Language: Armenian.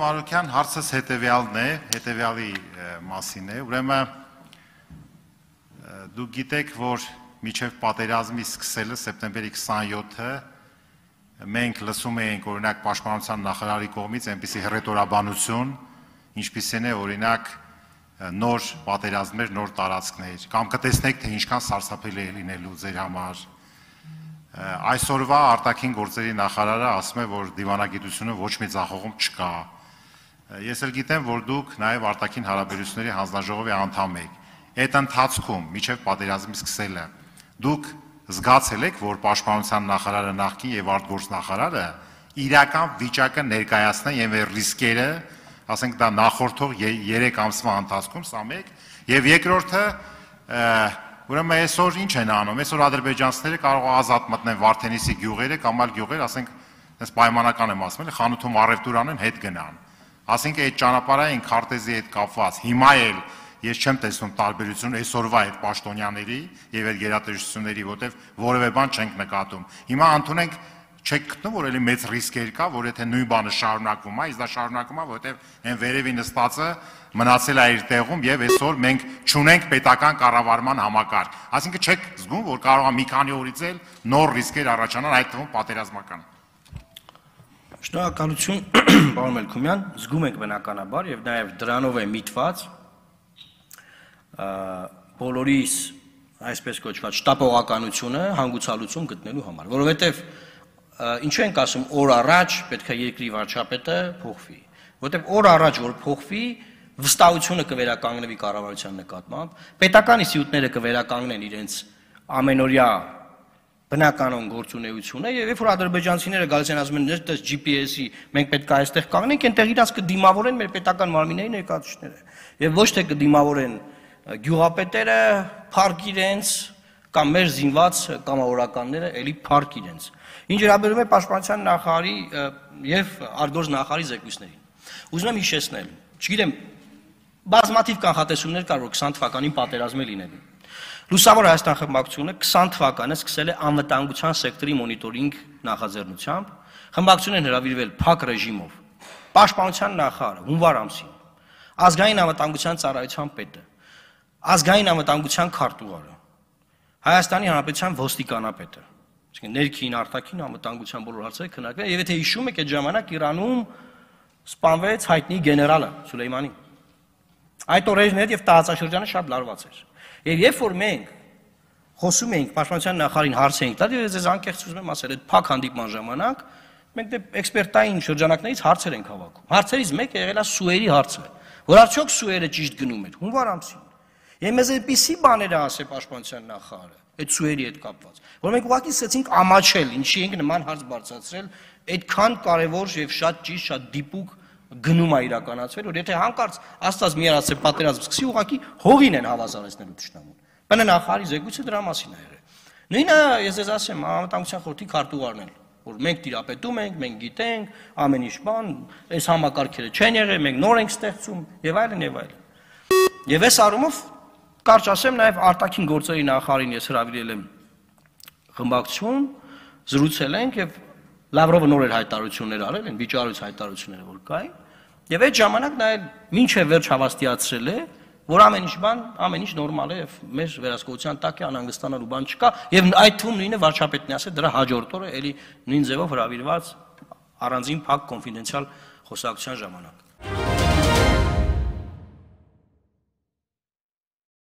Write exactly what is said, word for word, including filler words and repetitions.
Մարուկյան, հարցս հետևյալն է, հետևյալի մասին է, ուրեմն դուք գիտեք, որ մինչև պատերազմի սկսելը սեպտեմբերի քսանյոթը մենք լսում էինք օրինակ Պաշտպանության նախարարի կողմից այնպիսի հռետորաբանություն, ինչպիսին է օրինակ նոր պատերազմներ, նոր տարածքներ, կամ կտեսնեք, թե ինչքան սարսափելի է լինելու ձեր համար։ Այսօրվա արտաքին գործերի նախարարը ասում է, որ դիվանագիտությունը ոչ մի ձախողում չկա։ Ես էլ գիտեմ, որ դուք նաև արտաքին հարաբերությունների հանձնաժողովի անդամ եք։ Այդ ընթացքում, մինչև պատերազմի սկսելը, դուք զգացել եք, որ Պաշտպանության նախարարը նախկին եւ արտգործնախարարը իրական վիճակը ներկայացնեն եւ այդ ռիսկերը, ասենք դա նախորդող երեք ամսվա ընթացքում, սա մեկ, եւ երկրորդը ուրեմն այսօր ինչ են անում, այսօր ադրբեջանցիները կարող է ազատ մտնեն Վարդենիսի գյուղերը կամ այլ գյուղեր, ասենք, այս պայմանական եմ ասում, խանութում առևտուր անեն, հետ գնան։ Ասենք այդ ճանապարհային քարտեզի հետ կապված հիմա էլ ես չեմ տեսնում տարբերություն այսօրվա այդ պաշտոնյաների եւ այդ գերատեսչությունների, որտեվ որևէ բան չենք նկատում։ Հիմա ընդունենք չեք գտնում, որ էլի մեծ ռիսկեր կա, որ եթե նույն բանը շարունակվում է, իսկ դա շարունակվում է, որտեվ այն վերևի նստածը մնացել է իր տեղում եւ այսօր մենք չունենք պետական կառավարման համակարգ։ Այսինքն չեք զգում, որ կարող է մի քանի օրից էլ նոր ռիսկեր առաջանան, այդ թվում պատերազմական։ Շնորհակալություն, պարոն Մելքումյան, զգում ենք բնականաբար եւ նաեւ դրանով է միտված բոլորիս այսպես կոչված շտապողականությունը հանգուցալուծում գտնելու համար, որովհետեւ ինչու ենք ասում օր առաջ պետք է երկրի վարչապետը փոխվի, որովհետեւ օր առաջ որ փոխվի վստահությունը կվերականգնվի կառավարության նկատմամբ, պետական ինստիտուտները կվերականգնեն իրենց ամենօրյա բնականon գործունեությունը եւ երբ որ ադրբեջանցիները գալիս են ասում են դες G P S-ի մենք պետք է այստեղ կանգնենք, այնտեղ իրաց կդիմավորեն մեր պետական մարմինների ներկայացուցիչները եւ ոչ թե կդիմավորեն գյուղապետերը, փառք իրենց կամ մեր զինված կամավորականները էլի փառք իրենց։ Ինչ վերաբերում է Պաշտպանության նախարարի եւ արտգործ նախարարի զեկույցներին։ Ուզում եմ հիշեցնել, չգիտեմ, բազմաթիվ կանխատեսումներ կար, որ քսան թվականին պատերազմ է լինելու։ Լուսավոր Հայաստան խմբակցությունը քսան թվականը սկսել է անվտանգության սեկտորի մոնիտորինգ նախաձեռնությամբ, խմբակցությունն հրավիրվել փակ ռեժիմով։ Պաշտպանության նախարարը հունվար ամսին, ազգային անվտանգության ծառայության պետը, ազգային անվտանգության քարտուղարը, Հայաստանի Հանրապետության ոստիկանապետը, այսինքն ներքին, արտաքին անվտանգության բոլոր հարցերը քննարկվել, եւ եթե հիշում եք, այդ ժամանակ Իրանում սպանվեց հայտնի գեներալը Սուլեյմանի։ Այդ օրերն էր եւ տարածաշրջանը շատ լարված էր։ Եվ երբ որ մենք խոսում էինք Պաշտպանության նախարարին հարց էինք տալ, եւ ես անկեղծ ուզում եմ ասել, այդ փակ հանդիպման ժամանակ մենք դե էքսպերտային շրջանակներից հարցեր ենք հավաքում։ Հարցերից մեկը եղել է Սուերի հարցը, որ արդյոք Սուերը ճիշտ գնում էր հունվար ամսին։ Եվ մեզ այնպիսի բաներ է ասել Պաշտպանության նախարարը, այդ Սուերի հետ կապված, որ մենք ուղղակի սկսեցինք ամաչել, ինչի ենք նման հարց բարձրացրել, այդքան կարևոր եւ շատ ճիշտ, շատ դիպուկ գնում է իրականացվել, որ եթե հանկարծ Աստված մի արած է պատերազմ սկսի, ուղղակի հողին են հավասարեցնելու ճշտամուն։ Բնը նախարարի զեկույցը դրա մասին է եղել։ Նույնը ես ես ասեմ, անվտանգության խորհրդի քարտուղարն էլ, որ մենք տիրապետում ենք, մենք գիտենք, ամեն ինչ բան, այս համակարգերը չեն եղել, մենք նոր ենք ստեղծում եւ այլն եւ այլն։ Եվ այս առումով կարճ ասեմ, նաև արտաքին գործերի նախարարին ես հրավիրել եմ խմբակցություն, զրուցել ենք եւ Լավրովը նոր էր հայտարարություններ արել, են վիճարույց հայտարարությունները որ կային, եւ այդ ժամանակ նա մինչեւ վերջ հավաստիացրել է, որ ամեն ինչ բան, ամեն ինչ նորմալ է եւ մեր վերահսկողության տակ է, անհանգստանալու բան չկա, եւ այդ թվում նույնը վարչապետն է ասել, դրա հաջորդ օրը էլի նույն ձևով հրավիրված առանձին փակ կոնֆիդենցիալ խոսակցության ժամանակ։